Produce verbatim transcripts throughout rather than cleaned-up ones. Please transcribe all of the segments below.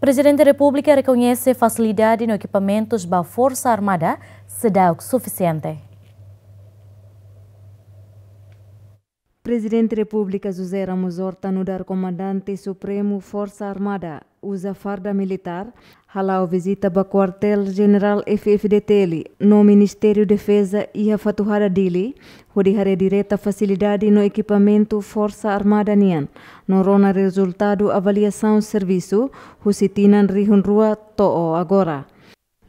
Prezidente Repúblika rekoñese fasilidade no ekipamentus ba Forsa Armada seidauk sufisiente. Prezidente Repúblika José Ramos Horta nu'udar Komandante Supremu Forsa Armada uza farda militár, hala'o vizita ba Kuartél Jenerál F-FDTL no Ministériu Defeza iha Fatuhada, Dili, hodi haree direta fasilidade no ekipamentu Forsa Armada nian, no rona rezultadu avaliasaun servisu husi tinan rihun rua to'o agora.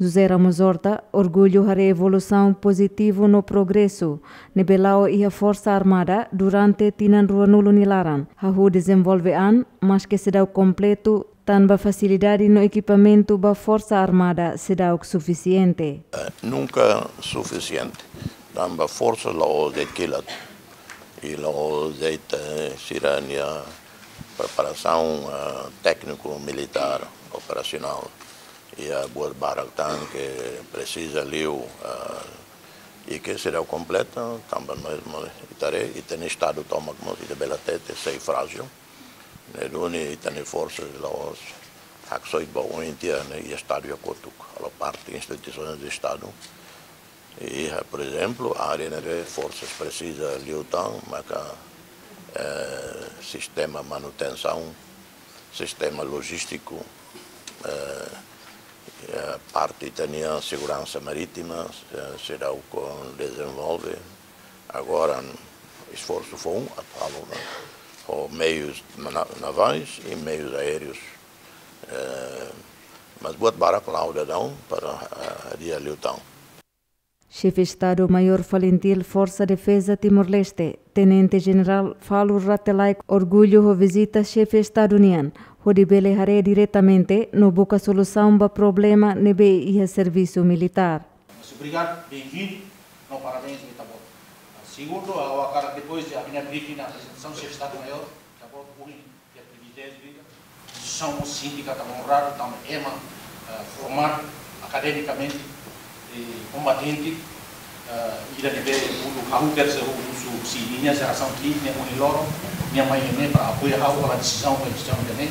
José Ramos Horta orgullu haree evolusaun pozitivu no progresu ne'ebé la'o iha Forsa Armada durante tinan ruanulu nia laran. Hahú dezenvolve an, maske seidauk kompletu, tanba fasilidade no ekipamentu ba Forsa Armada seidauk sufisiente. Eh, nunka sufisiente. Tanba forsa la'ós de'it kilat. I la'ós de'it, eh, sira-nia preparasaun, eh, tékniku militár operasionál. Iha buat barak tan ke presiza liu, eh, i ke seidauk kompleta, tanba mezmu ita haree, ita-nia Estadu tomak mós, ita bele hatete, sei frájil. Ne'e duni ita-nia forsa la'ós haksoit ba oin tiha, ne'e iha Estadu iha kotuk, halo parte instituisoens de Estadu. Iha, por ezemplu, área ne'ebé forsa presiza liután, maka, eh, sistema manutensaun, sistema lojístiku, eh, eh, parte ita-nia seguransa marítima, eh, seidauk dezenvolve. Agora, esforsu foun atu halo, ne'e, ho meius na-, navais i meius aéreus. Eh, mas buat barak la'o daudaun para, eh, hadi'a liután. Xefe Estadu Maiór Falintil Forsa Defeza Timor-Leste, Tenente Jenerál Falur Rate Laek, orgullu ho vizita Xefe Estadu nian, hodi bele haree diretamente no buka solusaun ba problema ne'ebé iha servisu militár. Mas obrigadu, benvindu, no parabéns ba ita-boot. Segundu, ha'u hakarak depois de ha'u-nia briefing na aprezentasaun Xefe Estadu Maiór, ita-boot ohin iha priviléjiu ida. Instituisaun mós sente katak onradu tanba ema, eh, formadu akademikamente, eh, kombatente, eh, ida ne'ebé uluk ha'u tersa husu husi ninia jerasaun ki'ik ne'e ohin loron, nia mai ne'e para apoia ha'u halo desizaun ba instituisaun ida-ne'e.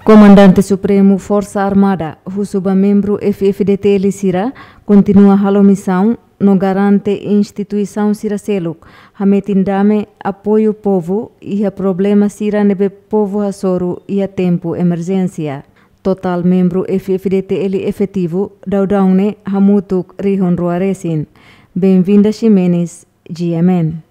Komandante Supremu Forsa Armada husu ba membru F-FDTL sira kontinua halo misaun no garante instituisaun sira seluk hametin dame, apoiu povu iha problema sira ne'ebé povu hasoru iha tempu emerjénsia. Totál membru F-FDTL efetivu daudaun ne'e hamutuk rihun rua resin. Benvinda Ximenes, G M N.